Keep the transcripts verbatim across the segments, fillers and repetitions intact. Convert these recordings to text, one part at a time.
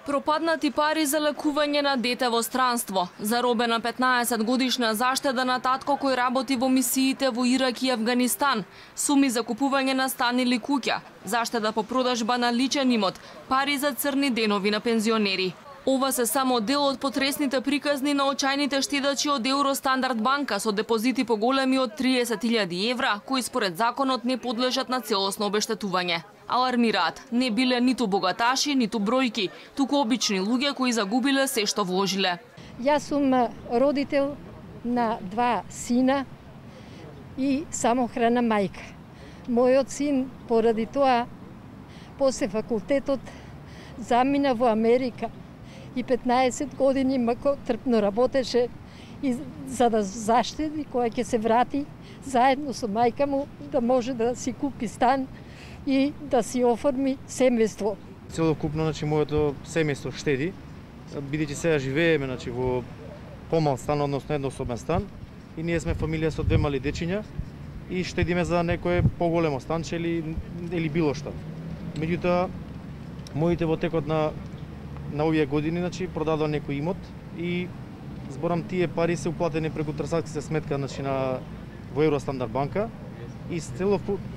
Пропаднати пари за лекување на дете во странство, заробена петнаесет годишна заштеда на татко кој работи во мисиите во Ирак и Авганистан, суми за купување на стан или куќа, заштеда по продажба на личен имот, пари за црни денови на пензионери. Ова се само дел од потресните приказни на очајните штедачи од Евростандард банка со депозити поголеми од триесет илјади евра, кои според законот не подлежат на целосно обештетување. Алармираат, не биле ниту богаташи, ниту бројки, туку обични луѓе кои загубиле се што вложиле. Јас сум родител на два сина и самохрана мајка. Мојот син поради тоа после факултетот замина во Америка и петнаесет години трпно работеше и за да заштеди кога ќе се врати заедно со мајка му да може да си купи стан и да си оформи семејство. Целокупно, значи, моето семејство штеди, бидејќи сега живееме, значи, во помал стан, односно еднособен стан, и ние сме фамилија со две мали дечиња и штедиме за некое поголемо станче или, или било што. Меѓутоа, моите во текот на на овие години, значи, продадоа некој имот и зборам тие пари се уплатени преку трансакцијска сметка, значи, на во Евростандард банка. И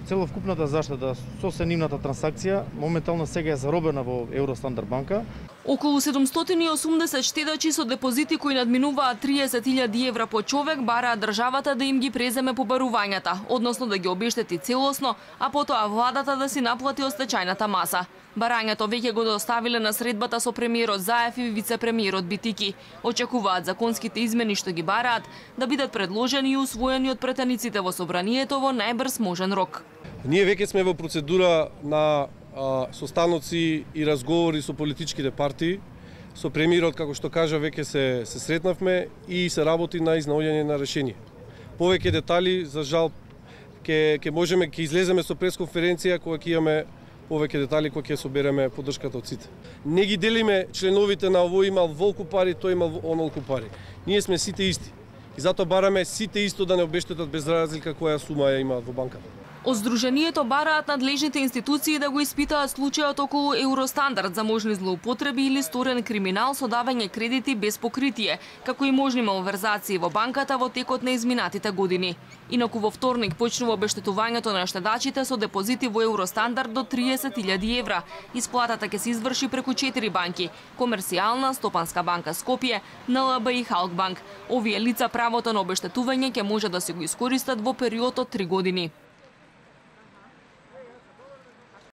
целовкупната заштеда со сенивната трансакција моментално сега е заробена во Евростандард банка. Околу седумстотини и осумдесет штедачи со депозити кои надминуваат триесет илјади евра по човек бараат државата да им ги преземе побарувањата, односно да ги обештети целосно, а потоа владата да си наплати остачајната маса. Барањето веќе го доставиле на средбата со премиерот Заев и вице-премиерот Битики. Очекуваат законските измени што ги бараат да бидат предложени и усвоени од претениците во собранието во најбрз можен рок. Ние веќе сме во процедура на а, состаноци и разговори со политичките партии. Со премиерот, како што кажа, веќе се, се сретнавме и се работи на изнаоѓање на решение. Повеќе детали, за жал, ќе ќе можеме ќе излеземе со пресконференција кога ќе имаме повеќе детали кои ќе собереме поддршката од сите. Не ги делиме членовите на овој имал волку пари, тој имал онолку пари. Ние сме сите исти. И затоа бараме сите исто да не обештетат без разлика која сума ја имаат во банката. Од Сдруженијето бараат надлежните институции да го испитаат случајот околу Евростандард за можни злоупотреби или сторен криминал со давање кредити без покритие, како и можни малверзации во банката во текот на изминатите години. Инаку во вторник почнува обештетувањето на штедачите со депозити во Евростандард до триесет илјади евра. Исплатата ќе се изврши преку четири банки: Комерцијална, Стопанска банка Скопје, Н Л Б и Халкбанк. Овие лица правото на обештетување ќе може да се го искористат во период од три години.